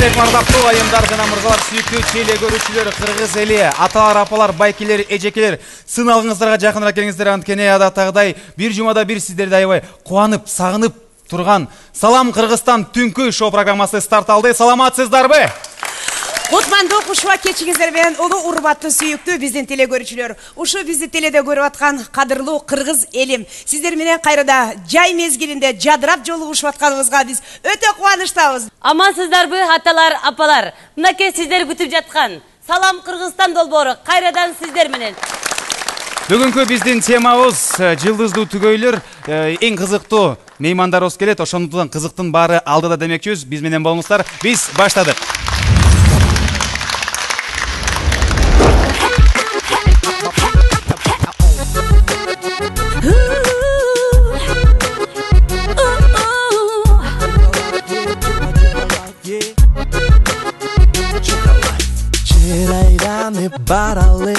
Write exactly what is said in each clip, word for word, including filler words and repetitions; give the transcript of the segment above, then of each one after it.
алейкум ардактуу айымдар жана мырзалар, сүйүктүү теле көрүүчүлөр, кыргыз эли, аталар, апалар, байкелер, эжекелер, сыналгыңыздарга жакыныраак келиңиздер. Анткени адаттагыдай бир жумада бир сиздерди аябай кубанып, сагынып турган Салам Кыргызстан түнкү шоу программасы старт алды. Саламатсыздарбы? Кутмандуу кушуа кечиңиздер менен улуу урматтуу сүйүктүү биздин теле көрүүчүлөр. Ушу бизди теледе көрүп аткан кадырлуу кыргыз элим, сиздер менен кайрада жай мезгилинде жадырап жолугушуп атканыбызга биз өтө кубанычтабыз. Амансыздарбы аталар, апалар? Мынакей сиздер күтүп жаткан Салам Кыргызстан долбоору кайрадан сиздер менен. Бүгүнкү биздин темабыз жылдыздуу түгөйлөр, эң кызыктуу меймандарыбыз келет. Ошондуктан кызыктын баары алдыда демекчүбүз. Биз менен болуңуздар. Биз баштадык. Баралы,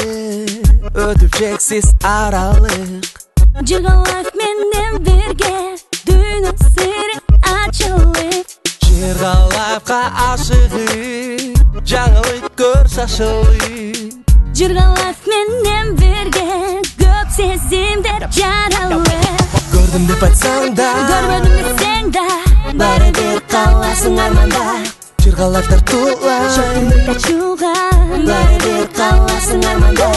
өтүп чексиз аралык. Жырга лайф менен бирге дүйнө сири ачылып. Жырга лайфка ашыгып, жаңылык көр шашылып. Жырга лайф менен бирге көп сезимдер жаралып. Көрдүм деп айтсаң да, көрбөдүм десең да, баары бир каласың арманда. Жырга лайфтар тула, шөкүндүк ачууга, баары бир каласың арманда.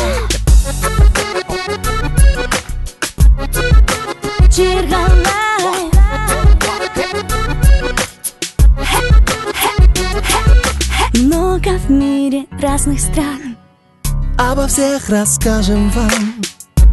Жырга лайф, много в мире разных стран. Обо всех расскажем вам.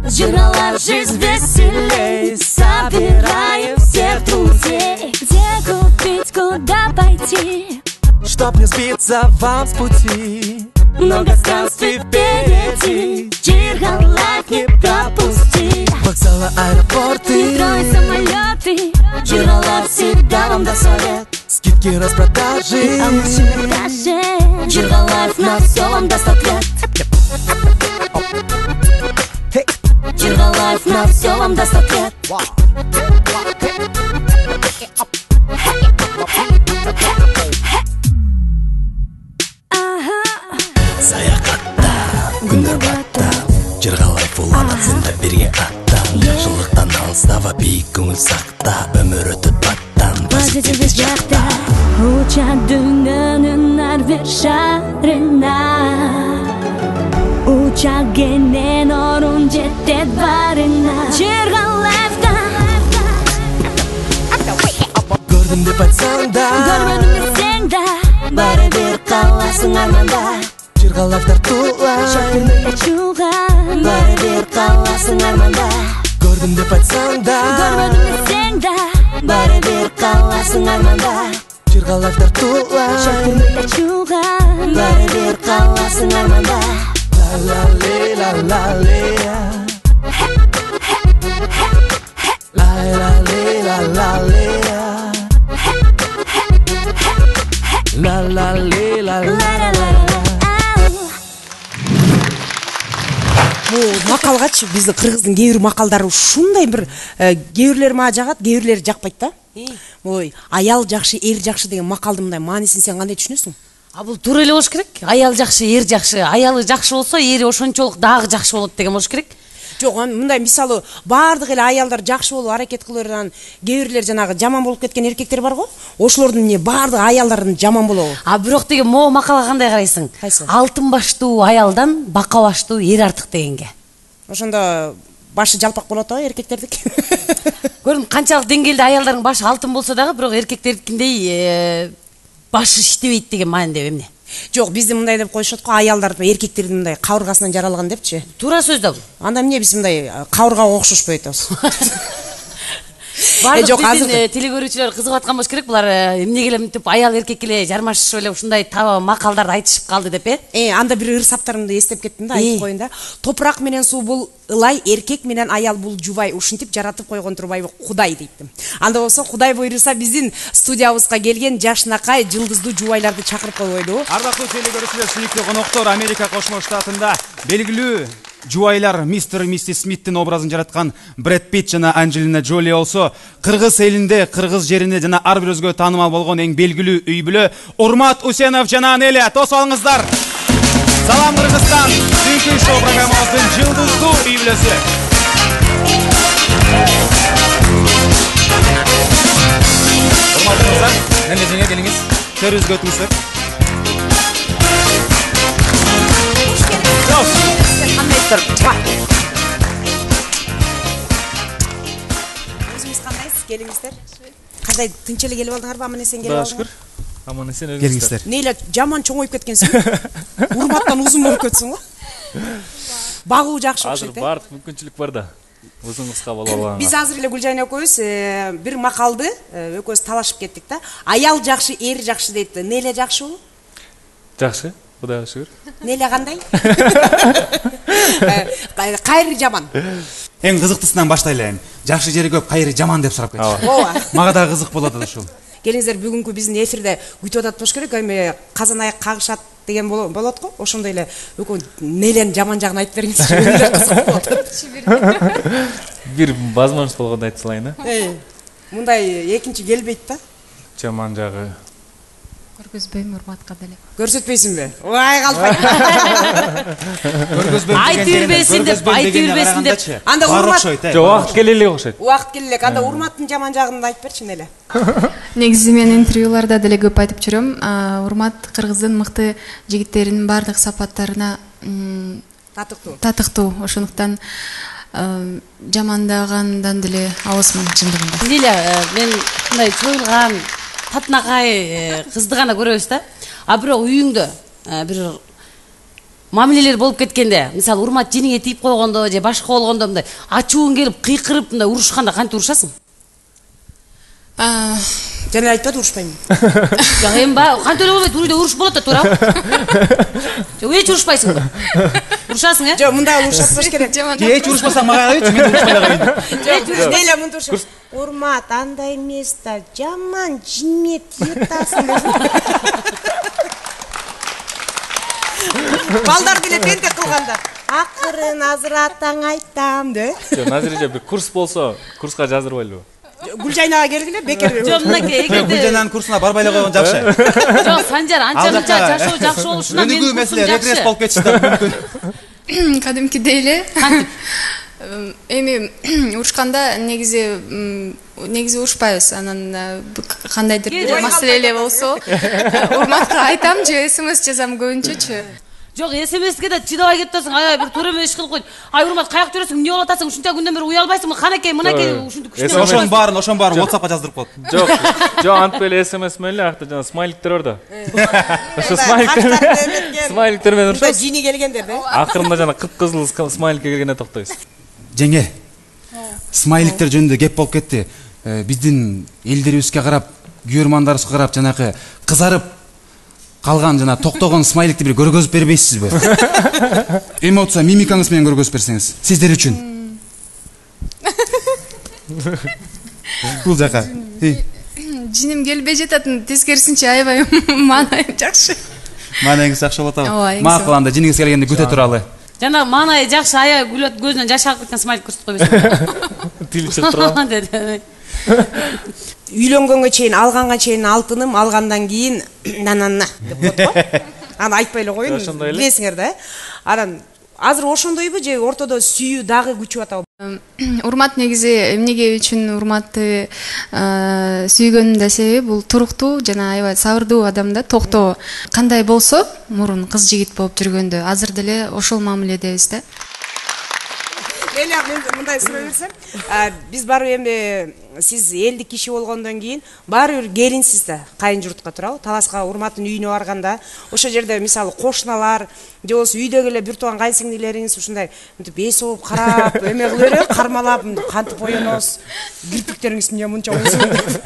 Жырга лайф, жизнь веселей, собираем всех друзей. Где купить, куда пойти, чтоб не сбиться вам с пути. Много странствий впереди, Жырга лайф не пропусти. Вокзалы, аэропорты, метро и самолеты, Жырга лайф всегда вам даст совет. Скидки, распродажи, а машины даже, Жырга лайф на все вам даст ответ. Жырга лайф на все вам даст ответ. Саякатта, күндөр баттап, Жырга лайф уланат сенде бирге аттан. Жакшылыктан алыстава, бийик көңүл сакта, өмүр өтөт баттан, позитивдик жакта. Уча дүйнөнүн ар бир шарына, уча кенен орун жетет барына. Жырга лайфта, көрдүм деп айтсаң да, көрбөдүм десең да, баары бир каласың арманда. Жырга лайфтар тула, шөкүндүк ачууга, баары бир каласың арманда. Көрдүм деп айтсаң да, көрбөдүм десең да, баары бир каласың арманда. Жырга лайфтар тула, шөкүндүк ачууга, баары бир каласың арманда. La la le la la le la la le la la le la la le la la la. Бул макалгачы биздин кыргыздын кээ бир макалдары ушундай бир кээ бирлери мага жагат, кээ бирлери жакпайт да. Ой, аял жакшы, эр жакшы деген макалдын мындай маанисин сен кандай түшүнөсүң? А бул туура эле болуш керек. Аял жакшы, эр жакшы. Аялы жакшы болсо, эри ошончолук дагы жакшы болот деген болуш керек. Жок, мындай мисалы баардык эле аялдар жакшы болуп аракет кылырдан, кээ бирлер жанагы жаман болуп кеткен эркектер бар го. Ошолордун эмне баардык аялдардын жаман болобу? А бирок деген могу макалга кандай карайсың? Кайсы? Алтын баштуу аялдан бака баштуу эр артык дегенге. Ошондо башы жалпак болот го эркектердик. Көрүн канчалык деңгээлде аялдардын башы алтын болсо дагы, бирок эркектердикиндей башы иштебейт деген маанидеби эмне? Жок, бизди мындай деп коюшат го, аялдар эркектердин мындай кабыргасынан жаралган депчи. Туура сөз да бул. Анда эмне биз мындай кабыргага окшошпойт атабыз? Бардык биздин теле көрүүчүлөр кызыгып аткан болуш керек. Булар эмнеге эле мынтип аял эркекке эле жармашышып эле ушундай таба макалдарды айтышып калды деп э? Э, анда бир ыр саптарымды эстеп кеттим да, айтып коеюн да. Топурак менен суу бул ылай, эркек менен аял бул жубай, ушинтип жаратып койгон турбайбы Кудай дейтим. Анда болсо Кудай буйруса биздин студиябызга келген жашынакай жылдыздуу жубайларды чакырып койбойду. Ардактуу теле көрүүчүлөр, сүйүктүү коноктор, Америка Кошмо Штатында белгилүү жубайлар мистер и миссис Смиттин образын жараткан Брэд Питт жана Анджелина Джоли болсо, кыргыз элинде, кыргыз жеринде жана ар бир өзгө таанымал болгон эң белгилүү үй бүлө Урмат Усенов жана Неля. Тосуп алыңыздар. Салам Кыргызстан. Түнкү шоу программабыздын жылдыздуу үй бүлөсү. Урматтуу кыздар, Неля жеңе келиңиз. Төрүбүзгө өтүңүздөр. Өзүңүз кандайсыз? Келиңиздер. Кандай тынч эле келип алдыңарбы? Аман эсен келип алдыңар? Аман эсен Келиңиздер. Нейле жаман чоңоюп кеткенсиң? Урматтан узун болуп кетсиң го? Багуу жакшы Азыр окшойт. баардык мүмкүнчүлүк бар да. Узун кыска боло алганга. Биз азыр эле Гүлжайна экөөбүз бир макалды экөөбүз талашып кеттик да. Аял жакшы, эр жакшы дейт. Нейле жакшыбы? Жакшы. Кудайга шүгүр. Нейле кандай? Кайры жаман. Эң кызыктысынан баштайлы. Жакшы жери көп, кайры жаман деп сурап кетти. Ооба. Мага да кызык болот ушул. Келиңиздер, бүгүнкү биздин эфирде күтүп атат болуш керек. Эми казан аяк кагышат деген болот го. Ошондой эле экөө Неленин жаман жагын айтып бериңизчи. Өйдө кызык болот. Бир возможность болгондо айтып салайын да. Мындай экинчи келбейт да. Жаман жагы. Көргөзбөйм урматка деле. Көрсөтпөйсүңбү? Ой, калпай. Көргөзбөйм. Айты бербесин деп, айты бербесин деп. Анда урмат. Жок, убакыт келе элек окшойт. Убакыт келе элек. Анда урматтын жаман жагын айтып берчи Неле. Негизи мен интервьюларда деле көп айтып жүрөм. Урмат кыргыздын мыкты жигиттеринин бардык сапаттарына Татыктуу. татыктуу. Ошондуктан жамандагандан деле абысмын чындыгында. Неля, мен мындай чоюлган татынакай кызды гана көрөбүз да. А бирок үйүңдө бир мамилелер болуп кеткенде, мисалы урмат жениңе тийип койгондо же башка болгондо мындай ачууң келип кыйкырып мындай урушканда кантип урушасың? Жана айтпады урушпайм. Жок, эми ба, кантип эле болбойт, үйдө уруш болот да, туура. Жок, эч урушпайсың. Урушасың, э? Жок, мында урушатпаш керек. Эч урушпасаң мага айт, мен урушпай эле коеюн. Неля мынтип урушат. Урмат, андай эмес да, жаман жиме тиютасың. Балдар деле тентек кылганда. Акырын азыр атаң айтам, де. Жок, назиреже бир курс болсо, курска жаздырбайлыбы? Гүлжайнага келгиле, бекер. Жок, мынакей, эгерде Гүлжайнанын курсуна барбай эле койгон жакшы. Жок, Санжар, анча-мынча жашоо жакшы болушунан мен өнүгүү маселе регресс болуп кетиши да мүмкүн. Кадимкидей эле. Эми урушканда негизи негизи урушпайбыз. Анан кандайдыр бир маселе эле болсо, урматка айтам же смс жазам көбүнчөчү. Жок, смске да чыдабай кетесиң, аябай бир туура эмес иш кылып койду. Ай, урмат, каякта жүрөсүң, эмне болуп атасың? Ушунча күндөн бери уя албайсыңбы? Канакей, мынакей, ушинтип күчтүү. Ошонун баарын, ошонун баарын WhatsAppка жаздырып коет. Жок, жок, антип эле смс менен эле акта жана смайликтер бар да. Ошо смайликтер смайликтер менен урушат. Жини келгендер да. Акырында жана кып-кызыл смайликке келгенде токтойбуз. Жеңе, смайликтер жөнүндө кеп болуп кетти. Биздин элдерибизге карап, күйөрмандарыбызга карап жанакы кызарып калган жана токтогон смайликти бир көргөзүп бербейсизби? Эмоция, мимикаңыз менен көргөзүп берсеңиз, сиздер үчүн. Бул жака. Жиним келбей жататын, тескерисинче аябай маанайым жакшы. Маанайыңыз жакшы болот Ооба, абы. эң Макул, анда жиниңиз келгенде күтө туралы. Жана маанайы жакшы, аябай күлөт, көзүнөн жаш агып кеткен смайлик көрсөтүп койбойсуңбу? Тили чыгып турат. Үйлөнгөнгө чейин, алганга чейин алтыным, алгандан кийин нанана деп болот го. Аны айтпай эле коеюн, билесиңер да. Анан азыр ошондойбу же ортодо сүйүү дагы күчүп атабы? Урмат негизи эмнеге үчүн урматты сүйгөнүмдүн да себеби бул туруктуу жана аябай сабырдуу адам да, токтоо. Кандай болсо, мурун кыз жигит болуп жүргөндө азыр деле ошол мамиледебиз да. Эля, мен мындай сурай берсем, биз барып эми сиз элдик киши болгондон кийин баары бир келинсиз да, кайын журтка туурабы? Таласка урматтын үйүнө барганда, ошол жерде мисалы кошуналар же болбосо үйдөгү эле бир тууган кайынсиңдилериңиз ушундай мынтип эс болуп карап, эме кылып берип, кармалап, кантип оёносуз, кирпиктериңиз эмне мынча узун деп.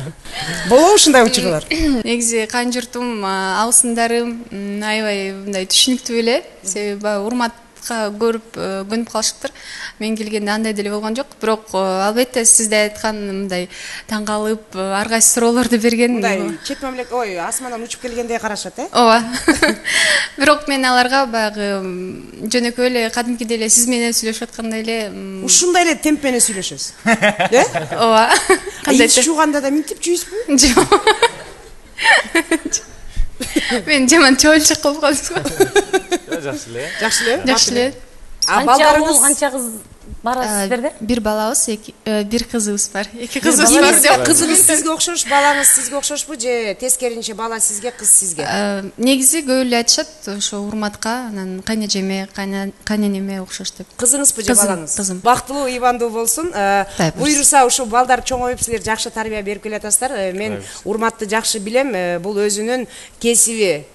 Болобу ушундай учурлар? Негизи кайын журтум, абысындарым аябай мындай түшүнүктүү эле, себеби урмат көрүп көнүп калышыптыр. Мен келгенде андай деле болгон жок. Бирок албетте сизде айткан мындай таң калып ар кайсы суроолорду берген. Мындай чет мамлекет ой асмандан учуп келгендей карашат, э? Ооба. Бирок мен аларга баягы жөнөкөй эле кадимкидей эле сиз менен сүйлөшүп аткандай эле ушундай эле темп менен сүйлөшөсүз. Э? Ооба. Кандай жууганда да минтип жуйсузбу? Жок. Мен жаман чойлчук кылып калдым. Жакшы эле. Жакшы эле? Жакшы эле. А Канча уул, балдарыңыз канча кыз бар сиздерде? Бир балабыз, бир кызыбыз бар. Эки кызыбыз бар. Кызыңыз сизге окшош, балаңыз сизге окшошпу же тескеринче бала сизге, кыз сизге? Негизи көп эле айтышат ошо урматка, анан кайнежеме, кайненеме окшош деп. Кызыңызбы же балаңыз? Кызым. Бактылуу, ийбандуу болсун. Буйруса ушул балдар чоңоюп силер жакшы тарбия берип келатасыздар. Мен Урматты жакшы билем. Бул өзүнүн кесиби.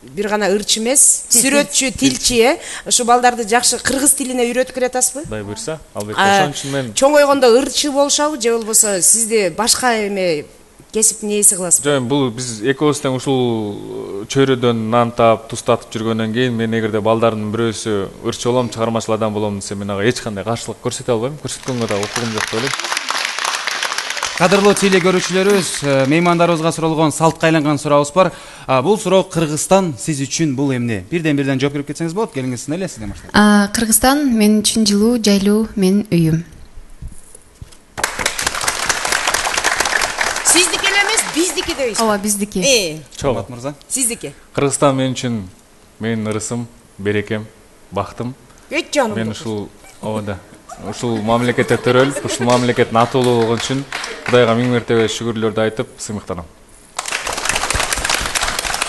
Бир гана ырчы эмес, сүрөтчү, тилчи, э. Ушу балдарды жакшы кыргыз тилине үйрөтүп келатасызбы? Кудай буйруса, албетте. Ошон үчүн мен чоңойгондо ырчы болушабы же болбосо сизди башка эме кесиптин ээси кыласызбы? жок, бул биз экөөбүз тең ушул чөйрөдөн нан таап, туз татып жүргөндөн кийин мен эгерде балдардын бирөөсү ырчы болом, чыгармачыл адам болом десе, мен ага эч кандай каршылык көрсөтө албайм. Көрсөткөнгө да укугум жок деп ойлойм. Кадырлуу теле көрүүчүлөрүбүз, меймандарыбызга суралган салтка айланган сурообуз бар. Бул суроо Кыргызстан сиз үчүн бул эмне? Бирден бирден жооп берип кетсеңиз болот. Келиңиз, эле сизден баштайбыз. Кыргызстан мен үчүн жылуу, жайлуу, менин үйүм. Сиздики эле эмес, биздики дейсиз. Ооба, биздики. Э, Чоңат мырза. сиздики. Кыргызстан мен үчүн менин ырысым, берекем, бактым. Өт жаным. Мен ушул ооба ушул мамлекетте төрөлүп, ушул мамлекеттин атуулуу болгон үчүн Кудайга миң мертебе шүгүрлөрдү айтып, сыймыктанам.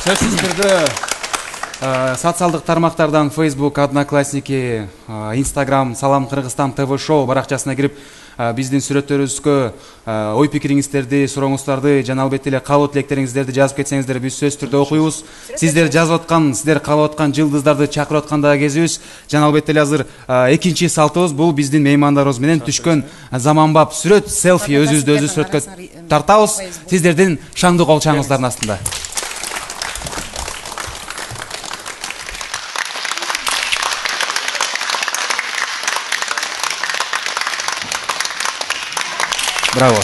Сөзсүз түрдө социалдык тармактардан Facebook, Одноклассники, Instagram, Салам Кыргызстан ТВ шоу баракчасына кирип биздин сүрөттөрүбүзгө ой пикириңиздерди, сурооңуздарды жана албетте эле каалоо тилектериңиздерди жазып кетсеңиздер, биз сөзсүз түрдө окуйбуз. Сиздер жазып аткан, сиздер каалап аткан жылдыздарды чакырып аткандагы кезибиз. Жана албетте эле азыр экинчи салтыбыз бул биздин меймандарыбыз менен түшкөн заманбап сүрөт, селфи, өзүбүздү өзүбүз сүрөткө тартабыз. Сиздердин шаңдуу кол чаңыңыздардын астында. Браво.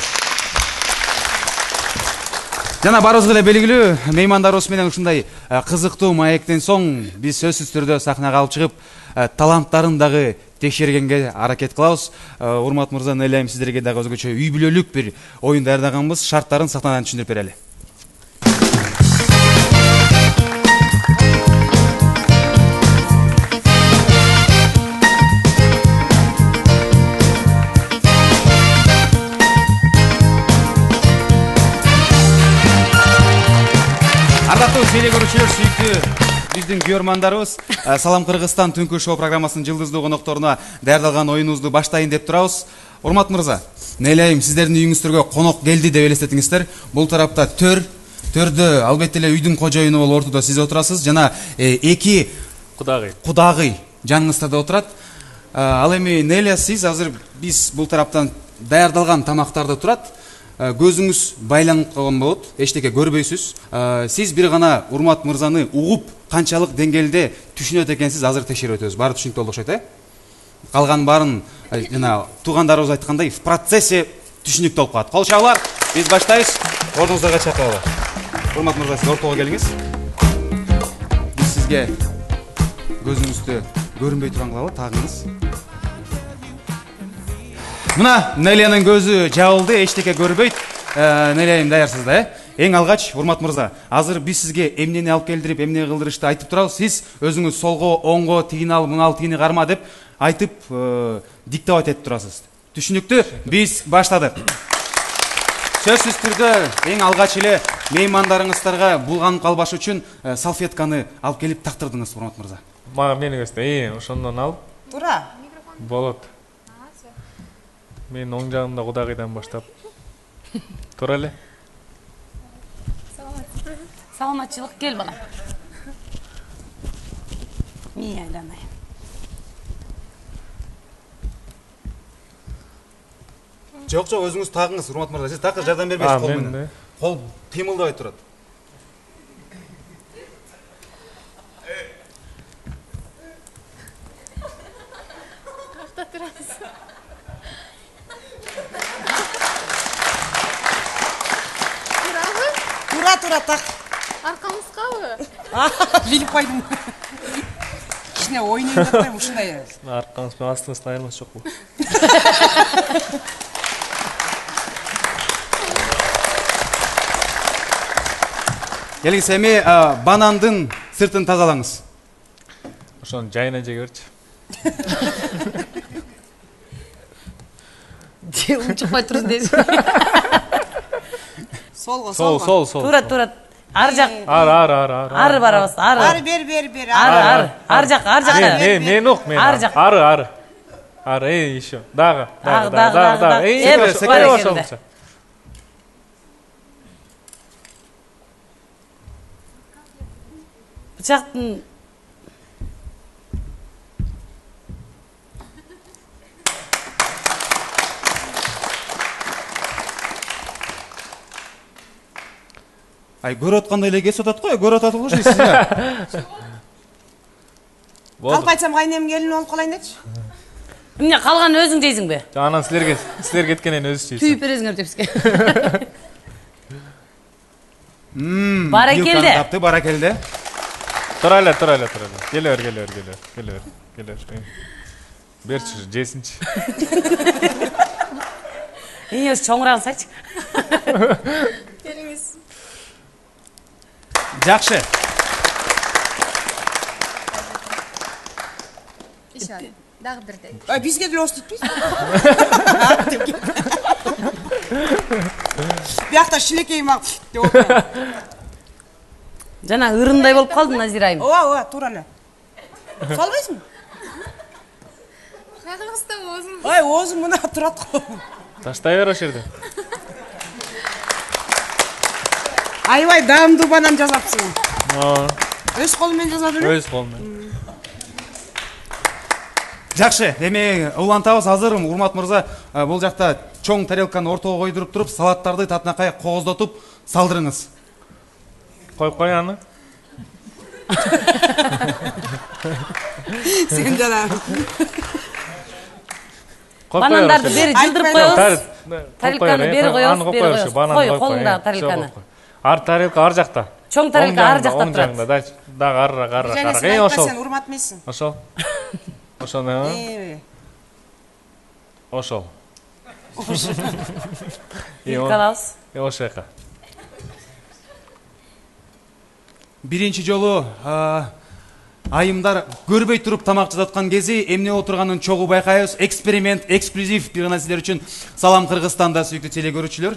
Жана барыбызга эле белгилүү, меймандарыбыз менен ушундай кызыктуу маектен соң биз сөзсүз түрдө сахнага алып чыгып, таланттарын дагы текшергенге аракет кылабыз. Урмат мырза, элем сиздерге дагы өзгөчө үй бүлөлүк бир оюн даярдаганбыз. Шарттарын сахнадан түшүндүрүп берели. Ардактуу теле көрүүчүлөр, сүйүктүү биздин көрөрмандарыбыз, Салам Кыргызстан түнкү шоу программасынын жылдыздуу конокторуна даярдалган оюнубузду баштайын деп турабыз. Урмат мырза, нелейм сиздердин үйүңүздөргө конок келди деп элестетиңиздер. Бул тарапта төр, төрдө албетте эле үйдүн кожоюну болуп ортодо сиз отурасыз, жана эки Кудагый. Кудагый жаныңызда отурат. Ал эми Неля, сиз азыр биз бул тараптан даярдалган тамактарды турат. Көзүңүз байланып калган болот, эчтеке көрбөйсүз. Сиз бир гана Урмат мырзаны угуп, канчалык деңгээлде түшүнөт экенсиз азыр текшерип өтөбүз. Баары түшүнүктүү болуп окшойт, э? Калган баарын жана туугандарыбыз айткандай в процессе түшүнүктүү болуп калат. Кол чабуулар, биз баштайбыз. Ордуңуздарга чакыралы. Урмат мырза, сиз ортого келиңиз. Биз сизге көзүңүздү көрүнбөй турган кылалы, тагыңыз. Мына Нелянын көзү жабылды, эчтеке көрбөйт. Нелям даярсыз да, э? Эң алгач, Урмат мырза, азыр биз сизге эмнени алып келдирип, эмне кылдырышты айтып турабыз. Сиз өзүңүз солго, оңго, тигини ал, мына ал, тигини карма деп айтып, диктовать этип турасыз. Түшүнүктүү? Биз баштадык. Сөзсүз түрдө эң алгач эле меймандарыңыздарга булганып калбаш үчүн салфетканы алып келип тактырдыңыз, Урмат мырза. Мага эмнени көстө? Ошондон алып. Туура. Болот. Мен оң жагымда Кудагыйдан баштап. Туура эле. Саламатчылык, кел балам. Мен айланайын. Жок, жок, өзүңүз тагыңыз, Урмат мырза. Сиз такыр жардам бербейсиз кол менен. Кол кыймылдабай турат. турабыз. Турабыз? Тура тура так. Аркамызгабы? Билип койдум. Кичине ойнойм деп коем ушундай. Аркаңыз менен астыңыздын айырмасы жокпу? Келиңиз эми банандын сыртын тазалаңыз. Ошону жайына жеге берчи. Же унчукпай туруш дейсиз. Солго, Сол, солго. сол, сол. Туура, туура. Ар жак. Ары, ары, ары, ары. Ары барабыз, ары. Ары бер, бер, бер. Ары, ары. Ар жак, ар Мен, жакка. мен, мен ук, мен. Ары жак. Ары, ары. Ары, эй, еще. Дагы, Дагы, дагы, дагы, дагы, дагы. дагы. Эй, Эп, секре, бар секре, экенде. Бычактын Ай, көрүп аткандай эле кесип атат го, көрүп атат болуш дейсиз да. Калп айтсам кайнем келин болуп калайын дечи. эмне калганын өзүң жейсиңби? Анан силерге, силер кеткенден өзү жейсиң. Түйүп бересиңер деп бизге. Мм. Баракелде. Тапты, баракелде. Тура эле, тура эле, тура эле. Келе бер, келе бер, келе бер, келе бер, келе бер. Берчи, жесинчи. Ийиңиз чоңураак сайчы. Келиңиз. Жакшы. Ишан. Дагы бирдей. Ай, бизге деле остуйтпуз. Биякта шилекей мак деп отур. Жана ырындай болуп калдым, Назирайым. Ооба, ооба, туура эле. Салбайсыңбы? Кайгыбызда оозун. Ай, оозум мына турат го. Таштай бер ошол жерде. Аябай даамдуу банан жасапсың. Оо, Өз колу менен жасап эле. өз колум менен. Жакшы, эми улантабыз. Азыр урмат мырза, бул жакта чоң тарелканы ортого койдуруп туруп, салаттарды татынакай кооздотуп салдырыңыз. Коюп кой аны. Сен жана. Банандарды бери жылдырып коебуз. Тарелканы бери коебуз, бери коебуз. Кой, колуңда тарелканы. Ар тарелка ар жакта. Чоң тарелка ар жакта Оң турат. жагында, дачы. Дагы арыраак, арыраак, Жана арыраак. сен Эй, айтпа, ошол. сен урмат эмессиң. Ошол. Ошону. Э, Ошол. Калабыз. Э, ошол жака. Биринчи жолу айымдар көрбөй туруп тамак жасаткан кези эмне отурганын чогуу байкайбыз. Эксперимент, эксклюзив бир гана силер үчүн. Салам Кыргызстанда, сүйүктүү телекөрүүчүлөр.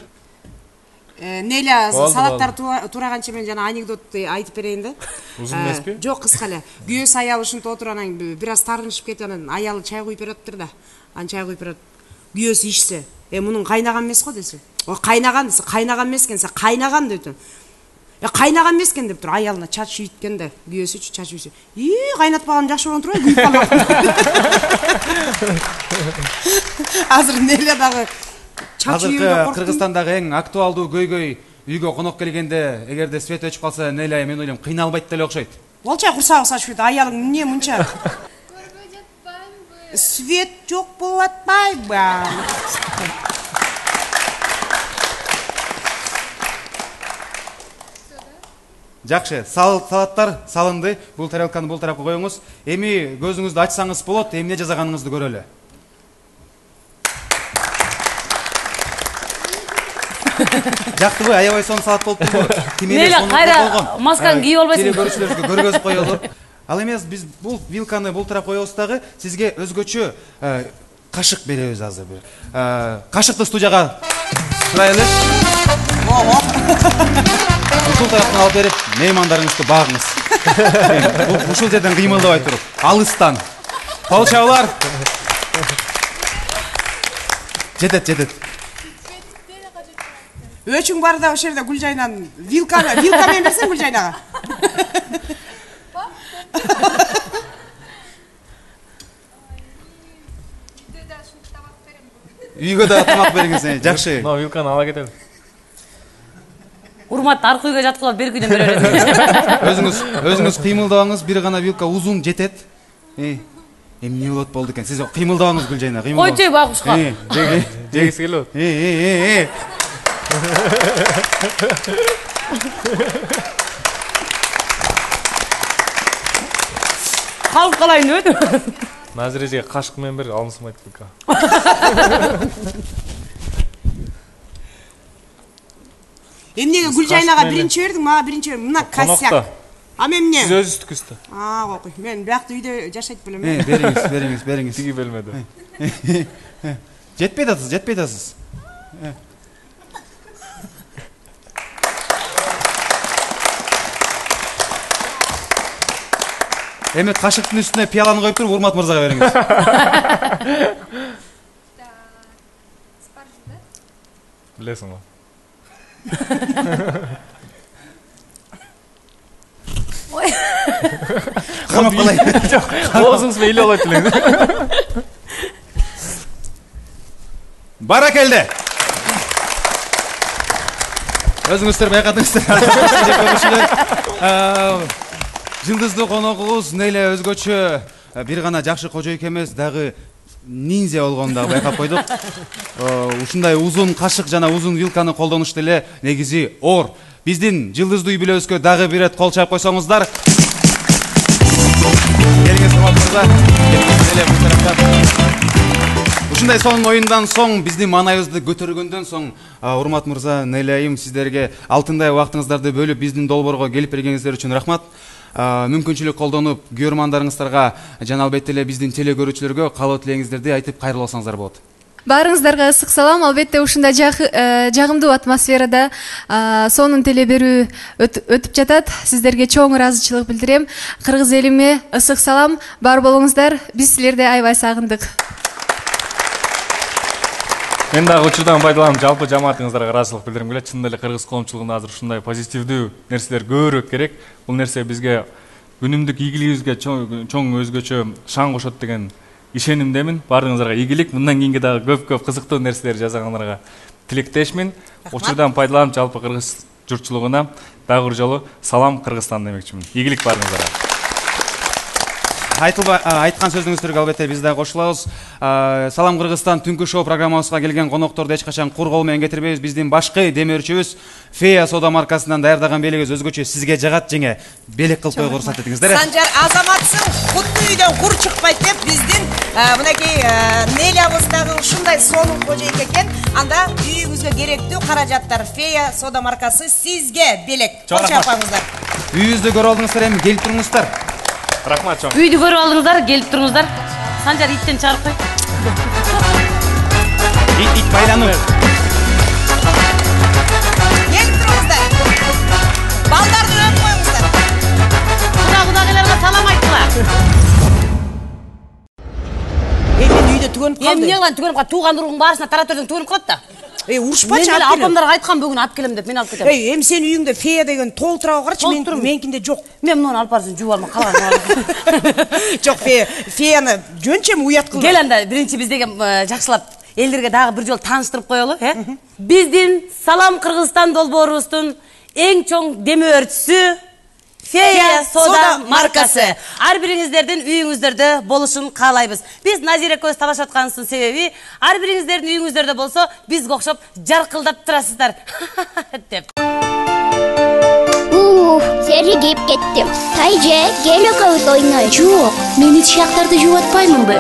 Неля Болду, салаттар тураганча мен жана анекдот айтып берейин да. Узун эмеспи? Жок, кыска эле. Күйөөсү аялы ушинтип отуруп анан бир аз таарынышып кетип анан аялы чай куюп бериптир да. Анан чай куюп берет. Күйөөсү ичсе, "Э, мунун кайнаган эмес го" десе. "О, кайнаган" десе, "Кайнаган эмес экен, кайнаган" дептир. "Э, кайнаган эмес экен" дептир. Аялына чач үйүткөн да, күйөөсүчү чач үйсө. "И, кайнатпаган жакшы болгон турбайбы, күйүп калган." Азыр Неля дагы чач үйүндө Азыркы корктум. Кыргызстандагы эң актуалдуу көйгөй үйгө конок келгенде, эгерде свет өчүп калса, Неля мен ойлойм кыйналбайт деле окшойт. Болчай курсагы сачып кетти. Аялың эмне мынча? Көрбөй жатпаймынбы? Свет жок болуп атпайбы? Жакшы, сал салаттар салынды. Бул тарелканы бул тарапка коюңуз. Эми көзүңүздү ачсаңыз болот, эмне жасаганыңызды көрөлү. Жактыбы, аябай сонун салат болуптурбу? Неля, кайра масканы кийип албайсыңбы? Телекөрүүчүлөргө көргөзүп коелу. Ал эмес, биз бул вилканы бул тарапка коебуз дагы, сизге өзгөчө кашык беребиз азыр бир. Кашыкты студияга сурайлы. Ушул тараптан алып берип, меймандарыңызды багыңыз. Бул ушул жерден кыймылдабай туруп, алыстан. Полчаулар. Жетет, жетет. Өчүң бар да ошол жерде Гүлжайнан вилканы, вилка менен берсең Гүлжайнага. Үйгө да тамак бериңиз, жакшы. Но вилканы ала кетели. Урмат аркы үйгө жаткылап берки үйдөн бере бересиң. Өзүңүз, өзүңүз кыймылдабаңыз, бир гана вилка узун жетет. Эмне болот болду экен? Сиз кыймылдабаңыз Гүлжайна, кыймылдабаңыз. Койчу багушка. Жегиси келип атат. Э, э, э. Калып калайын өт. Назирежеге кашык менен бер алынсымайт бека. Эмнеге Гүлжайнага биринчи бердиң, мага биринчи бердиң. Мына косяк. А мен эмне? Сиз өзүңүздүкүстү. А, кокуй. Мен биякта үйдө жашайт белем. Э, бериңиз, бериңиз, бериңиз. Тиги белмеди. Жетпей атасыз, жетпей атасыз. Эми кашыктын үстүнө пиаланы коюп туруп Урмат мырзага бериңиз. Билесиң го. Камап калай. Оозуңуз менен эле алат элеңиз. Баракелде. Өзүңүздөр байкадыңыздар. Жылдыздуу коногубуз эле өзгөчө бир гана жакшы кожойк эмес, дагы ниндзя болгонун дагы байкап койдук. Ушундай узун кашык жана узун вилканы колдонуш деле негизи оор. Биздин жылдыздуу үй бүлөбүзгө дагы бир рет кол чаап койсоңуздар. Келиңиз Урмат мырза. Ушундай сонун оюндан соң, биздин маанайыбызды көтөргөндөн соң, Урмат мырза, нейлейим сиздерге алтындай убактыңыздарды бөлүп биздин долбоорго келип бергениңиздер үчүн рахмат. Мүмкүнчүлүк колдонуп, көрөрмандарыңыздарга жана албетте эле биздин теле көрүүчүлөргө каалоо тилегиңиздерди айтып кайрылып алсаңыздар болот. Баарыңыздарга ысык салам. Албетте ушундай жагымдуу атмосферада сонун теле берүү өтүп жатат. Сиздерге чоң ыраазычылык билдирем. Кыргыз элиме ысык салам. Бар болуңуздар. Биз силерди аябай сагындык. Мен дагы учурдан пайдаланып жалпы жамаатыңыздарга ыраазычылык билдиргим келет. Чындап эле кыргыз коомчулугунда азыр ушундай позитивдүү нерселер көбүрөөк керек. Бул нерсе бизге күнүмдүк ийгилигибизге чоң өзгөчө шаң кошот деген ишенимдемин. Баарыңыздарга ийгилик. Мындан кийинки дагы көп-көп кызыктуу нерселер жасагандарга тилектешмин. Учурдан пайдаланып жалпы кыргыз журтчулугуна дагы бир жолу салам Кыргызстан демекчимин. Ийгилик баарыңыздарга. Айтылба айткан сөзүңүздөргө албетте биз дагы кошулабыз. Салам Кыргызстан түнкү шоу программабызга келген конокторду эч качан кур кол менен кетирбейбиз. Биздин башкы демөөрчүбүз Фея сода маркасынан даярдаган белегибиз өзгөчө сизге жагат жеңе белек кылып койгу уруксат этиңиздер. Санжар азаматсың, кутты үйдөн кур чыкпайт деп биздин мынакей Нелябыздагы ушундай сонун кожойк экен. Анда үйүңүзгө керектүү каражаттар Фея сода маркасы сизге белек. Кол чапаңыздар. Үйүңүздү көрүп алдыңыздар, эми келип туруңуздар. Рахмат чоң. Үйдү көрүп алдыңыздар, келип туруңуздар. Санжар иттен чыгарып кой. Ит ит байлануу. Келип туруңуздар. Балдарды өп коюңуздар. Куда кудагыларга салам айткыла. Эми үйдө түгөнүп калды. Эмне кылган түгөнүп калды? Тууган уругуң баарысына тараптардан түгөнүп калат да. Эй, урушпачы мен алып келем. апамдарга айткам бүгүн алып келем деп, мен алып кетем. Эй, эми сенин үйүңдө Фея деген толтурабы карчы, мен меникинде жок. Мен муну алып барсын, жууп алма, калган. Жок, Фея, Феяны жөнчөм уят кылды. Кел анда биринчи биздеги жакшылап элдерге дагы бир жолу тааныштырып коелу, э? Биздин Салам Кыргызстан долбоорубуздун эң чоң демөөрчүсү Фея сода маркасы. Ар бириңиздердин үйүңүздөрдө болушун каалайбыз. Биз Назира көз табашып атканыбыздын себеби ар бириңиздердин үйүңүздөрдө болсо бизге окшоп жаркылдап турасыздар деп. Ух, серигип кеттим. Тайже, кел экөөбүз ойнойбуз. Жок, мен ич жактарды жууп атпаймынбы?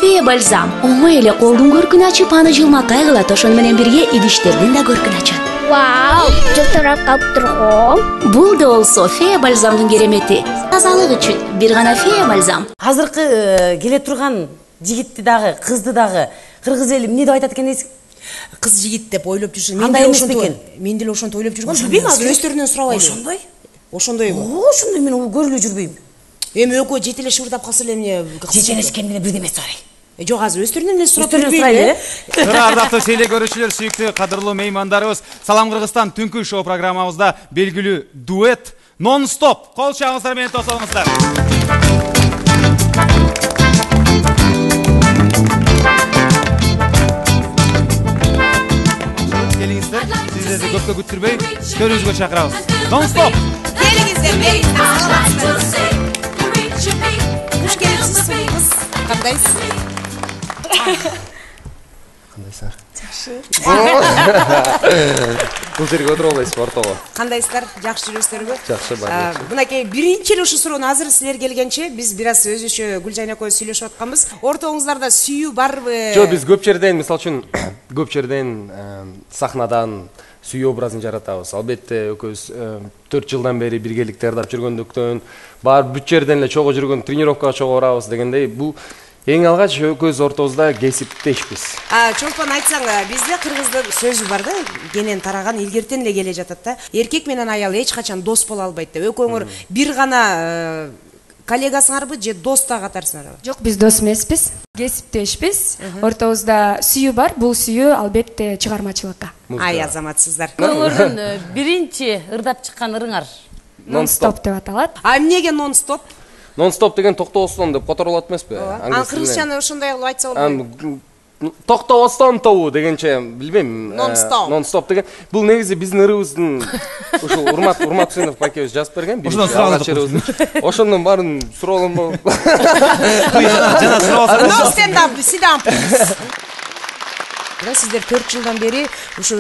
Фея бальзам оңой эле колдун көркүн ачып, аны жылмак кайгылат, ошону менен бирге идиштердин да көркүн ачат. Вау, жылтырап калып турган. Бул да болсо Фея бальзамдын керемети. Тазалык үчүн бир гана Фея бальзам. Азыркы келе турган жигитти дагы, кызды дагы кыргыз эли эмне деп айтат экен дейсиң? Кыз жигит деп ойлоп жүрсүң. Андай эмес бекен. Мен деле ошентип ойлоп жүргөм. Билбейм азыр өздөрүнөн сурабайбы. Ошондой? Ошондойбу? Ошондой, мен көрүлө жүрбөйм. Эми экөө жетелеш шыбырдап калса эле эмне? Жетелешкенде бирдеме сурайын. Жок, азыр өздөрүнөн эле сурап жүрбөйм. Ардактуу теле көрүүчүлөр, сүйүктүү кадырлуу меймандарыбыз, Салам Кыргызстан түнкү шоу программабызда белгилүү дуэт нон-стоп кол чабыңыздар менен тосолуңуздар. Келиңиздер, сиздерди көпкө күттүрбөй, төрүбүзгө чакырабыз. Нон-стоп. Келиңиздер, бериңиздер, саламатсыздар. кош келипсиз сулуу кыз. Кандайсыз? Кандайсыңар? Жакшы. Бул жерге отуруп албайсызбы ортого? Кандайсыздар? Жакшы жүрөсүздарбы? Жакшы, бар. Мынакей биринчи эле ушул суроону азыр силер келгенче биз бир аз өзүчө Гүлжайна экөөбүз сүйлөшүп атканбыз. Ортоңуздарда сүйүү барбы? Жок, биз көп жерден, мисалы үчүн, көп жерден сахнадан сүйүү образын жаратабыз. Албетте, экөөбүз төрт жылдан бери биргеликте ырдап жүргөндүктөн, бар бүт жерден эле чогуу жүргөн, тренировкага чогуу барабыз дегендей, бул эң алгач экөөбүз ортобузда кесиптешпиз. А, Чолпон айтсаң, бизде кыргыздын сөзү бар да, кенен тараган илгертен эле келе жатат да. Эркек менен аял эч качан дос боло албайт деп. Экөөңөр бир гана коллегасыңарбы же дос да катарсыңарбы? Жок, биз дос эмеспиз, кесиптешпиз. Ортобузда сүйүү бар, бул сүйүү албетте чыгармачылыкка. Ай, азаматсыздар. Көңүлдүн биринчи ырдап чыккан ырыңар нон-стоп деп аталат. А эмнеге нон-стоп? Нон-стоп деген токтобостон деп которулат эмеспи? Ан кыргызчаны ошондой кылып айтса болбойбу? Токтобостон тобу дегенче билбейм. Нон-стоп. Нон-стоп деген бул негизи биздин ырыбыздын ушул Урмат Урмат Үсенов байкебиз жазып берген. Ошондон сураган. Ошондон баарын суроолом болуп. Жана суроосуң. No stand up, sit down please. Сиздер төрт жылдан бери ушу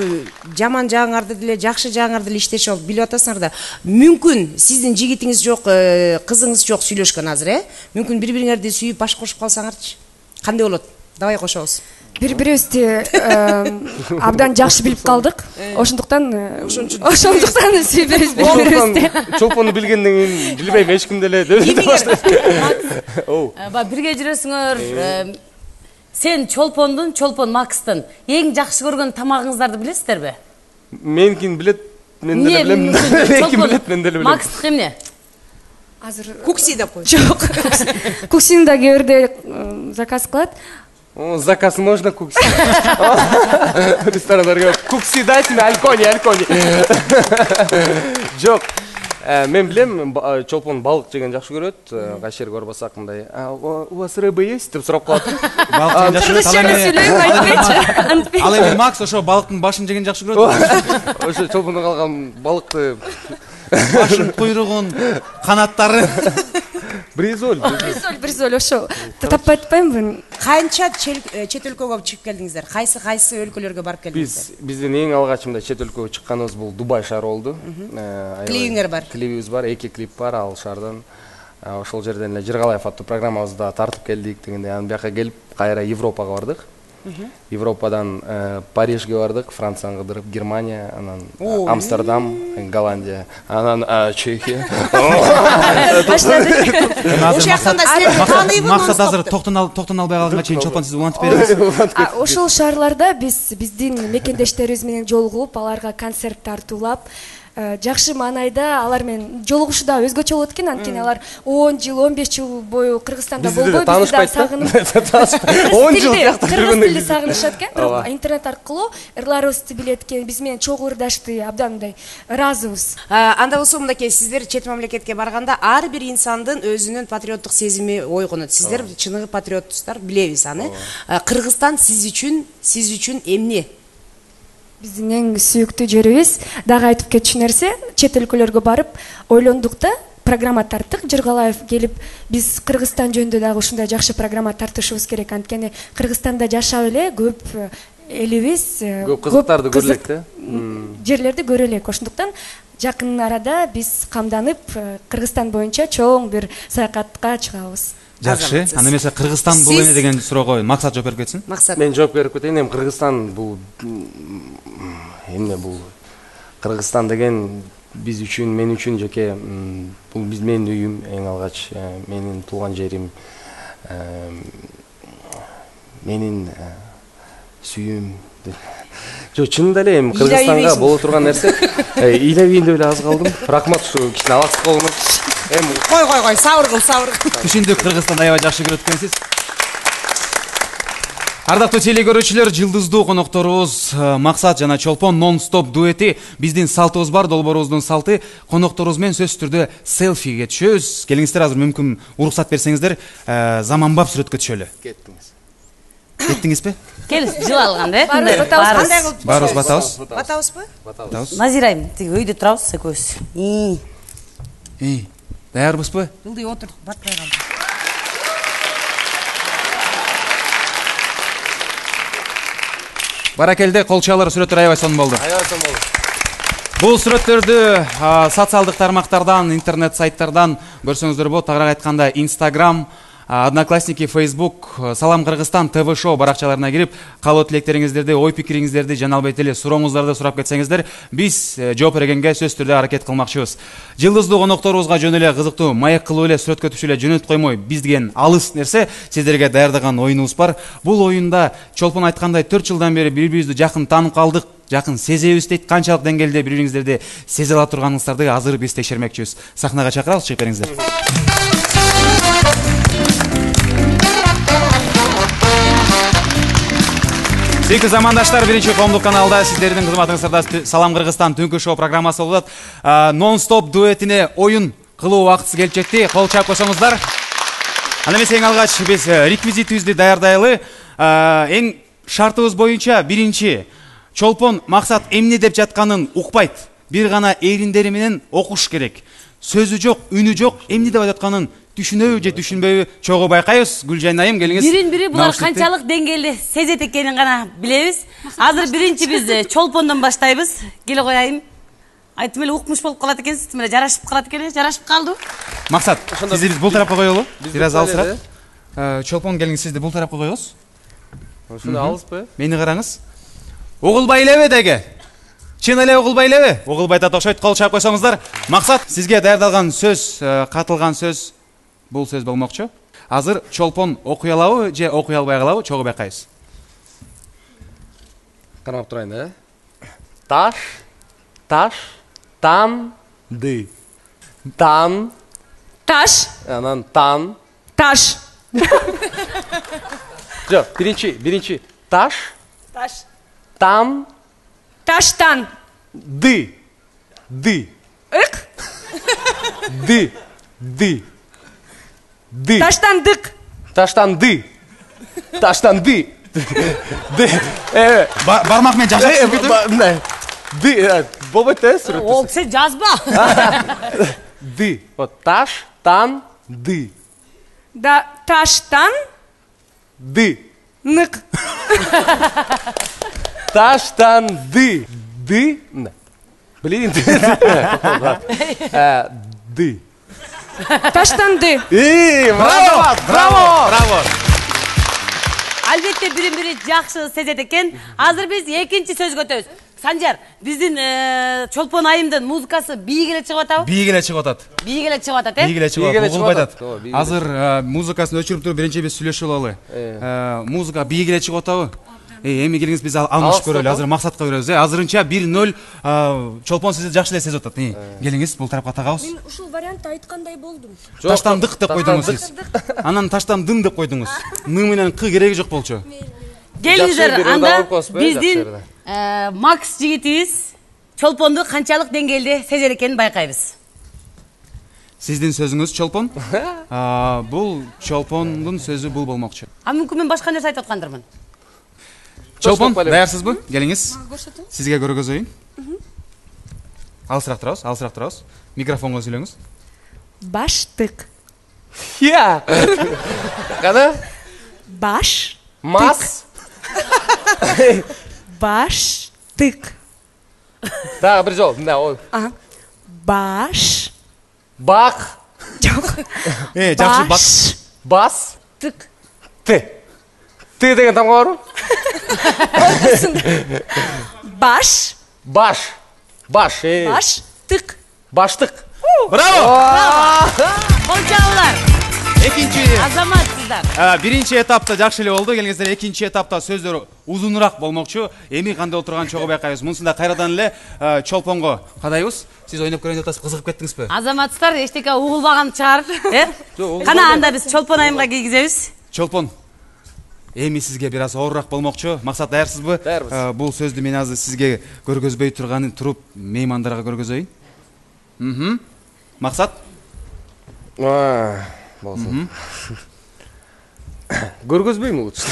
жаман жагыңарды деле, жакшы жагыңарды деле иштешип алып билип атасыңар да. Мүмкүн сиздин жигитиңиз жок, кызыңыз жок сүйлөшкөн азыр, э? Мүмкүн бири-бириңерди сүйүп баш кошуп калсаңарчы. Кандай болот? Давай кошобуз. Бири-бирибизди абдан жакшы билип калдык. Ошондуктан ошондуктан сүйбөйбүз бири-бирибизди. Чолпонду билгенден кийин билбейм, эч ким деле деп баштайт. Ба бирге жүрөсүңөр. Сен Чолпондун, Чолпон Макстын эң жакшы көргөн тамагыңыздарды билесиздерби? Меникин билет, мен деле билем. Меникин билет, мен деле билем. Макстык эмне? Азыр кукси деп кой. Жок. Куксини да кээ бирде заказ кылат. Заказ можно кукси. Ресторандарга кукси дайте мне, алькони, алькони. Жок. Мен билем, Чолпон балык жеген жакшы көрөт. Кайсы жерге барбасак мындай, "У вас рыба есть?" деп сурап калат. Балык жеген жакшы көрөт. Ал эми Макс ошо балыктын башын жеген жакшы көрөт. Ошо Чолпондон калган балыкты башын, куйругун, канаттары. Бризоль, бризоль, бризоль ошо. Таппай атпаймынбы? Канча чет өлкөгө чыгып келдиңиздер? Кайсы кайсы өлкөлөргө барып келдиңиздер? Биз биздин эң алгачында чет өлкөгө чыкканыбыз бул Дубай шаары болду. Клибиңер бар. Клибибиз бар, эки клип бар ал шаардан. Ошол жерден эле Жыргалаев аттуу программабызда тартып келдик дегенде, анан бияка келип кайра Европага бардык. Европадан Парижге бардык, Францияга кыдырып, Германия, анан Амстердам, Голландия, анан Чехия. Максат азыр токтон албай калганга чейин Чолпон сиз улантып беребиз. Ошол шаарларда биз биздин мекендештерибиз менен жолугуп, аларга концерт тартуулап, жакшы маанайда алар менен жолугушуу да өзгөчө болот экен. Анткени алар он жыл, он беш жыл бою Кыргызстанда болбой, бизди да сагынып, он жыл жакта жүргөндө кыргыз тилди сагынышат экен. Бирок интернет аркылуу ырларыбызды билет экен, биз менен чогуу ырдашты, абдан мындай ыраазыбыз. Анда болсо мындакей, сиздер чет мамлекетке барганда ар бир инсандын өзүнүн патриоттук сезими ойгонот. Сиздер чыныгы патриоттусуздар, билебиз аны. Кыргызстан сиз үчүн, сиз үчүн эмне? Биздин эң сүйүктүү жерибиз. Дагы айтып кетчү нерсе, чет өлкөлөргө барып ойлондук да, программа тарттык. Жыргалаев келип, биз Кыргызстан жөнүндө дагы ушундай жакшы программа тартышыбыз керек. Анткени Кыргызстанда жашап эле көп элибиз, көп кызыктарды көрөлүк да. Жерлерди көрөлүк. Ошондуктан жакын арада биз камданып Кыргызстан боюнча чоң бир саякатка чыгабыз. Жакшы. Анда эмесе Кыргызстан бул эмне деген суроого Максат жооп берип кетсин. Максат. Мен жооп берип кетейин. Эми Кыргызстан бул эмне бул? Кыргызстан деген биз үчүн, мен үчүн жеке бул биз менин үйүм, эң алгач менин туулган жерим, менин сүйүүм. Жо, чынында эле эми Кыргызстанга боло турган нерсе, ыйлабейин деп эле аз калдым. Рахмат ушу кичине алаксыз болгонум. Эми кой кой кой, сабыр кыл, сабыр кыл. Түшүндүк, Кыргызстанды аябай жакшы көрөт экенсиз. Ардактуу телекөрүүчүлөр, жылдыздуу конокторубуз Максат жана Чолпон нон-стоп дуэти. Биздин салтыбыз бар, долбоорубуздун салты. Конокторубуз менен сөзсүз түрдө селфиге түшөбүз. Келиңиздер, азыр мүмкүн уруксат берсеңиздер, заманбап сүрөткө түшөлү. Кеттиңиз. Кеттиңизби? Кел, жыл алган да. Кандай кылып? Барыбыз батабыз. Батабызбы? Батабыз. Назирайым, тиги өйдө турабыз экөөбүз. И. Даярбызбы? Ылдый отур, батпай калды. Баракелде, кол чалар, сүрөттөр аябай сонун болду. Аябай сонун болду. Бул сүрөттөрдү социалдык тармактардан, интернет сайттардан көрсөңүздөр болот. Тагыраак айтканда Instagram, Одноклассники, Facebook, Салам Кыргызстан, ТВ шоу баракчаларына кирип, каалоо тилектериңиздерди, ой пикириңиздерди жана албетте эле сурооңуздарды сурап кетсеңиздер, биз жооп бергенге сөзсүз түрдө аракет кылмакчыбыз. Жылдыздуу конокторубузга жөн эле кызыктуу маек кылып эле сүрөткө түшүп эле жөнөтүп коймой, биз деген алыс нерсе сиздерге даярдаган оюнубуз бар. Бул оюнда Чолпон айткандай төрт жылдан бери бири-бирибизди жакын таанып калдык, жакын сезебиз дейт. Канчалык деңгээлде бири-бириңиздерди сезе ала турганыңыздарды азыр биз текшермекчибиз. Сахнага чакырабыз, чыгып бериңиздер. Сүйүктүү замандаштар, биринчи коомдук каналда сиздердин кызматыңыздарда Салам Кыргызстан түнкү шоу программасы болот. Нон-стоп дуэтине оюн кылуу убактысы келип жетти. Кол чаап койсоңуздар. Анда эмесе эң алгач биз реквизитибизди даярдайлы. Эң шартыбыз боюнча биринчи Чолпон максат эмне деп жатканын укпайт. Бир гана эриндери менен окуш керек. Сөзү жок, үнү жок, эмне деп жатканын түшүнөбү же түшүнбөйбү чогуу байкайбыз. Гүлжан айым, келиңиз. Бирин-бири булар канчалык деңгээлде сезет экенин гана билебиз. Азыр биринчи биз Чолпондон баштайбыз. Келе кояйм. Айтым эле укмуш болуп калат экенсиз, тим эле жарашып калат экен, жарашып калды. Максат, сизди биз бул тарапка коелу. Бир аз алысыраак. Чолпон, келиңиз, сизди бул тарапка коебуз. Ушуну алыспы? Мени караңыз. Угулбай элеби деге. Чын эле угулбай элеби? Угулбай да окшойт, кол чаап койсоңуздар. Максат, сизге даярдалган сөз, катылган сөз бул сөз болмокчу. Азыр Чолпон окуй алабы же окуй албай калабы? Чогуу байкайбыз. Карап турайын, э? Таш, таш, тан, ды. Тан. Таш. Анан тан. Таш. Жок, биринчи, биринчи. Таш. Таш. Тан. Таштан. Ды. Ды. Ык. Ды. Ды. Ды. Таштандык. Таштанды. Таштанды. Ды. Э, бармак менен жашап кетип. Ды. Болбойт да, сүрөт. Ол сен жазба. Ды. Вот таш, тан, ды. Да, таштан. Ды. Нык. Таштан ды. Ды. Блин. Ды. Таштанды. Эй, браво, браво, браво. Албетте бирин-бири жакшы сезет экен. Азыр биз экинчи сөзгө өтөбүз. Санжар, биздин Чолпон айымдын музыкасы бийик эле чыгып атабы? Бийик эле чыгып атат. Бийик эле чыгып атат, э? Бийик эле чыгып атат. Угулбай атат. Азыр музыкасын өчүрүп туруп биринчи биз сүйлөшүп алалы. Музыка бийик эле чыгып атабы? Эми келиңиз, биз алмашып көрөлү. Азыр максатка беребиз. Азырынча бир ноль Чолпон сизди жакшы эле сезип атат. Келиңиз, бул тарапка тагабыз. Мен ушул вариантты айткандай болдум. Таштандык деп койдуңуз сиз. Анан таштандын деп койдуңуз. Ны менен кы кереги жок болчу. Келиңиздер, анда биздин Макс жигитибиз Чолпонду канчалык деңгээлде сезер экенин байкайбыз. Сиздин сөзүңүз Чолпон? Бул Чолпондун сөзү бул болмокчу. А мүмкүн мен башка нерсе айтып аткандырмын. Чолпон, даярсызбы? Келиңиз. Сизге көргөзөйүн. Алысыраак турабыз, алысыраак турабыз. Микрофонго сүйлөңүз. Баштык. Я. Кана? Баш. Мас. Баштык. Дагы бир жол. Мына ол. Баш. Бак. Жок. Э, жакшы бак. Бас. Тык. Т. Т деген тамга барбы? Баш. Баш. Баш. Баш. Тык. Баштык. Браво! Колчалар. Экинчи. Азаматсыздар. Биринчи этапта жакшы эле болду. Келиңиздер, экинчи этапта сөздөр узунураак болмокчу. Эми кандай болуп турганын чогуу байкайбыз. Мунусунда кайрадан эле Чолпонго кадайбыз. Сиз ойноп көрөйүн деп атасыз, кызыгып кеттиңизби? Азаматсыздар, эчтеке угулбаган чыгар, э? Кана анда биз Чолпон айымга кийгизебиз. Чолпон, эми сизге бир аз оорураак болмокчу. Максат, даярсызбы? Даярбыз. Бул сөздү мен азыр сизге көргөзбөй турганын туруп меймандарга көргөзөйүн. Мм. Максат? Болсун. Көргөзбөйм лучше.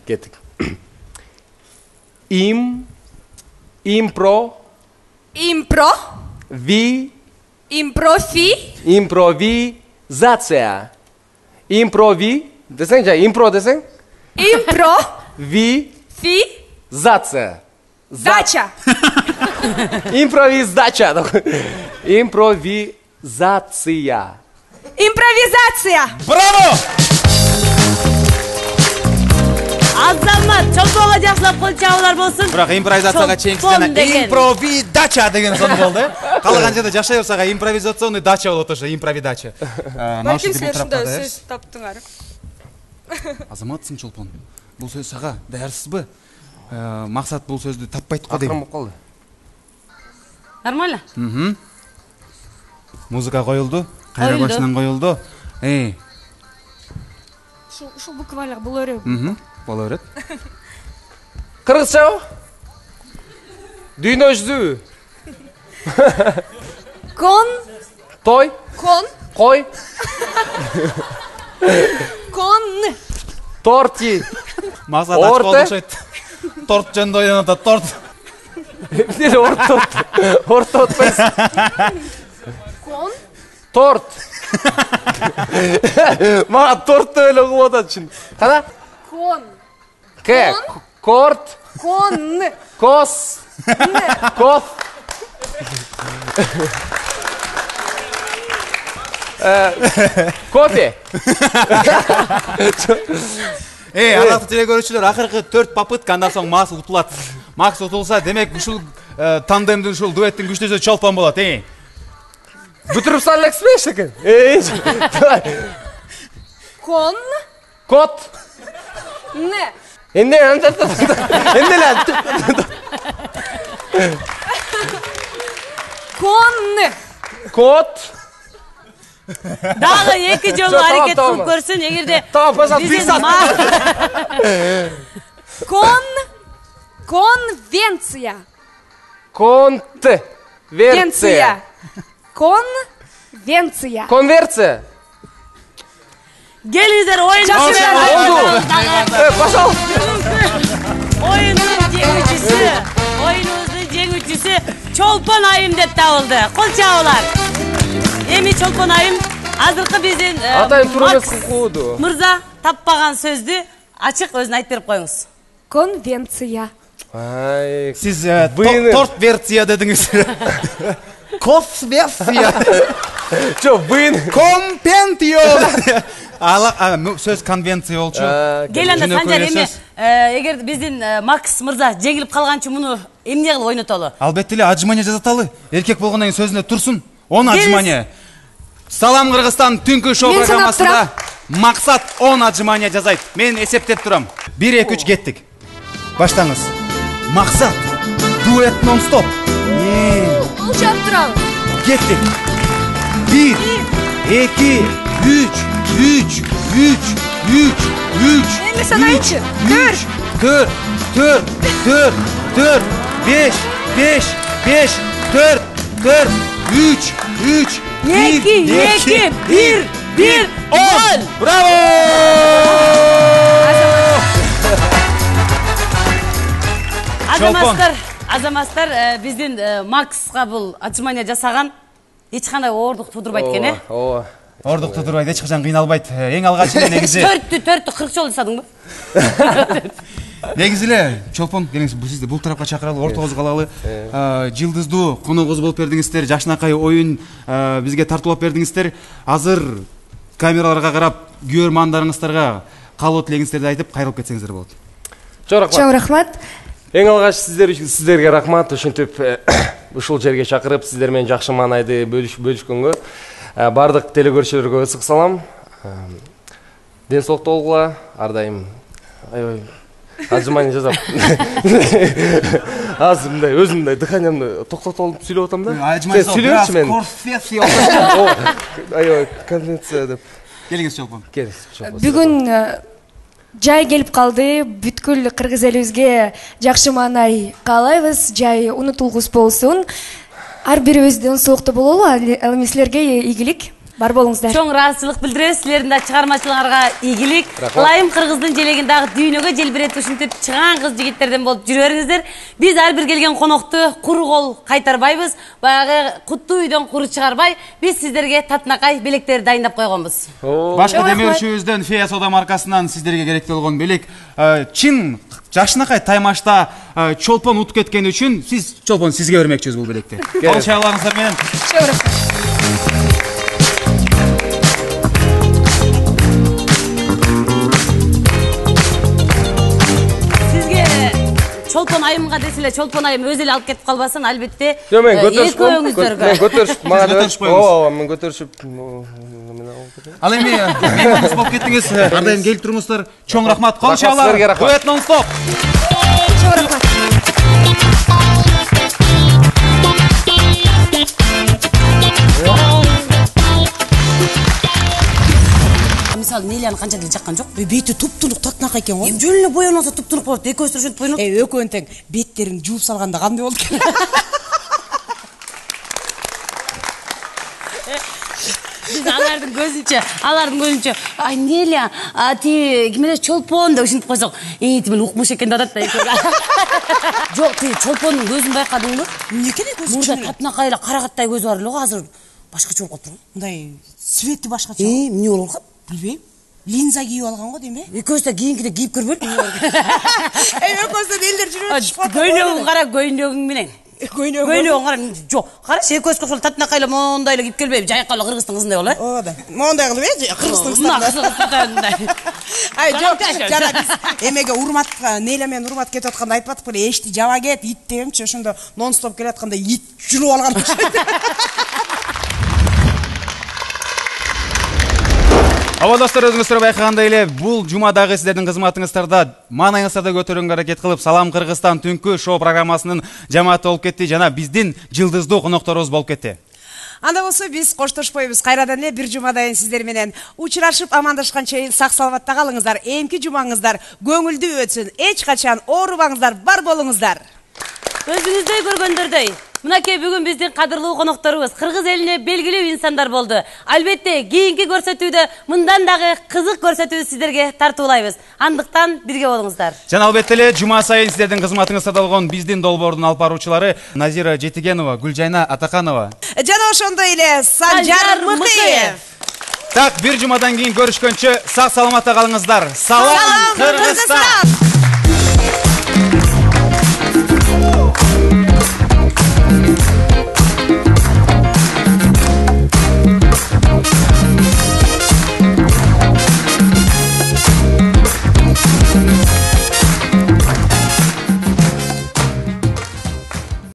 Кеттик. Им. Импро. Импро. Ви. Импрофи. Импровизация. Импрови. Десең жа, импро десең? Импро. Ви. Фи. Зация. Дача. Импровиздача. Импровизация. Импровизация. Браво! Азамат, чолпонго жакшылап кол чабуулар болсун. Бирок импровизацияга чейинки жана импровидача деген сон болду. Калган жерде жашай берсага импровизационный дача болот ошо, импровидача. Балким силер ушундай сөз таптыңар. Азаматсың чолпон. Бул сөз сага даярсызбы? Максат бул сөздү таппайт го дейм. Калды. Нормально? Мм. Музыка коюлду, кайра башынан коюлду. Эй. Ушул ушул буквалар боло береби? Мм. Боло берет. Кыргызчабы? Дүйнө жүзүбү? Кон. Той? Кон. Кой? Кон. Торти. Максат ачкы окшойт. Торт жөнүндө ойлонуп атат, торт. Эмне орто? Орто отпайсың. Кон. Торт. Мага тортты эле угуп атат чын. Кана? Кон. К. Корт. Кон. Кос. Коф. Кофе. Эй, арактуу теле көрүүчүлөр, акыркы төрт попытка андан соң Макс утулат. Макс утулса, демек ушул тандемдин, ушул дуэттин күчтүүсү чолпон болот, эй. Бүтүрүп салып элексиз экен? Эй. Кон. Кот. Не. Эмне? Эмне ле? Кон. Кот. Дагы эки жолу аракет кылып көрсүн, эгерде Тамам, пожалуйста, Кон. Конвенция. Конт. Верция. Конвенция. Конверция. Келиңиздер, оюн Болду. Пожалуйста. Оюндун жеңүүчүсү, оюнубуздун жеңүүчүсү Чолпон айым деп табылды. Кол чабуулар. Эми Чолпон айым азыркы биздин Атайын туура эмес кылууду. Мырза таппаган сөздү ачык өзүн айтып берип коюңуз. Конвенция. Ай, сиз торт версия дедиңиз. Коф версия. Жо, быйын. Компентио. Ала сөз конвенция болчу. Кел анда Санжар, эми эгер биздин Макс мырза жеңилип калганчы муну эмне кылып ойнотолу? Албетте эле отжимание жасаталы. Эркек болгондон кийин сөзүндө турсун. он отжимание. Салам Кыргызстан түнкү шоу программасында Максат он отжимание жасайт. Мен эсептеп турам. бир эки үч кеттик. Баштаңыз. Максат. Дуэт нон-стоп. Бул жап туралы. Кеттик. бир эки үч үч үч үч үч. Эми санайчы. төрт төрт төрт төрт беш беш беш төрт төрт үч үч эки эки бир бир он. Браво! Азаматтар, азаматтар биздин Макска бул отжимание жасаган эч кандай оордук тудурбайт экен, э? Ооба. Оордук тудурбайт, эч качан кыйналбайт. Эң алгач эле негизи. төрттү төрттү кырк жолу жасадыңбы? Негизи эле Чолпон, келиңиз, бул сизди бул тарапка чакыралы, ортогузу калалы. Жылдыздуу коногубуз болуп бердиңиздер, жашынакай оюн бизге тартуулап бердиңиздер. Азыр камераларга карап, көрөрмандарыңыздарга каалоо тилегиңиздерди айтып, кайрылып кетсеңиздер болот. Чоң рахмат. Чоң рахмат. Эң алгач сиздер сиздерге рахмат, ошентип ушул жерге чакырып, сиздер менен жакшы маанайды бөлүшкөнгө. Бардык телекөрүүчүлөргө ысык салам. Ден соолукта болгула, ар дайым. Аябай отжимание жасап. Азыр мындай өзүмдү дыханиямды токтотуп алып сүйлөп атам да. Сен сүйлөчү мен. Конфессия. Аябай конвенция деп. Келиңиз Чолпон. Келиңиз. Бүгүн жай келип калды. Бүткүл кыргыз элибизге жакшы маанай каалайбыз. Жай унутулгус болсун. Ар бирибиз ден соолукта бололу. Ал эми силерге ийгилик. бар болуңуздар. Чоң ыраазычылык билдиребиз. Силердин да чыгармачылыгыңарга ийгилик. Ылайым кыргыздын желегин дагы дүйнөгө желбиретип ушинтип чыгаан кыз жигиттерден болуп жүрө бериңиздер. Биз ар бир келген конокту куру кол кайтарбайбыз. Баягы куттуу үйдөн куру чыгарбай, биз сиздерге татынакай белектерди дайындап койгонбуз. Башка демөөрчүбүздөн Фея Сода маркасынан сиздерге керектүү болгон белек чын жашынакай таймашта чолпон утуп кеткени үчүн сиз чолпон сизге бермекчүбүз бул белекти. Кол чагаларыңыздар менен. Чолпон айымга деселе, чолпон айым өзү эле алып кетип калбасын, албетте. Жок, мен көтөрүшүп, экөөңүздөргө. мен көтөрүшүп, мага деп. Ооба, мен көтөрүшүп. Ал эми мейманыбыз болуп кеттиңиз. Ар дайым келип туруңуздар. Чоң рахмат. Кол чагалар. Дуэт нон-стоп. Чоң рахмат. Мисалы Нелияны канча деле жаккан жок. Бети туп-турук татынакай экен го. Жөн эле боеносо туп-турук болот. Экөөсү ушинтип боенот. Э, экөөнүн тең беттерин жууп салганда кандай болду экен? Биз алардын көзүнчө, алардын көзүнчө, ай Нелия, а ти ким эле чолпон деп ушинтип койсок, э, тим эле укмуш экен деп атат да экөө. Жок, ти чолпондун көзүн байкадыңбы? Эмне экен көзү? Мурда татынакай эле карагаттай көзү бар эле го, азыр башкача болуп калыптыр. Мындай свети башкача. Э, эмне болуп калат? Билбейм. Линза кийип алган го дейм э? Экөөсү да кийинкиде кийип көрбөйт. Эй, экөөсү элдер жүрүп атышпады. Көйнөгүң кара, көйнөгүң менен. Көйнөгүң. Көйнөгүң кара. Жок, карачы экөөсү кошол татынакай эле мондай эле кийип келбейби? Жайкал эле кыргыздын кызындай боло, э? Ооба. Мондай кылып э, кыргыздын кызындай. Ай, жок, жана биз эмеге урматка, Нелия менен урмат кетип атканда айтпадык беле, эшти жаба кет, ит дегенчи, ошондо нон-стоп келатканда ит жүрүп алган. Ооба достор, өзүңүздөр байкагандай эле бул жумадагы сиздердин кызматыңыздарда маанайыңыздарды көтөрүүгө аракет кылып Салам Кыргызстан түнкү шоу программасынын жамааты болуп кетти жана биздин жылдыздуу конокторубуз болуп кетти. Анда болсо биз коштошпойбуз. Кайрадан эле бир жумадан сиздер менен учурашып амандашкан чейин сак саламатта калыңыздар. Эмки жумаңыздар көңүлдүү өтсүн. Эч качан оорубаңыздар, бар болуңуздар. Өзүңүздөй көргөндөрдөй. Мынакей бүгүн биздин кадырлуу конокторубуз кыргыз элине белгилүү инсандар болду. Албетте, кийинки көрсөтүүдө мындан дагы кызык көрсөтүү сиздерге тартуулайбыз. Андыктан бирге болуңуздар. Жана албетте эле жума сайын сиздердин кызматыңызда болгон биздин долбоордун алып баруучулары Назира Жетигенова, Гүлжайна Атаканова жана ошондой эле Санжар Мыкыев. Так, бир жумадан кийин көрүшкөнчө сак саламатта калыңыздар. Салам Кыргызстан!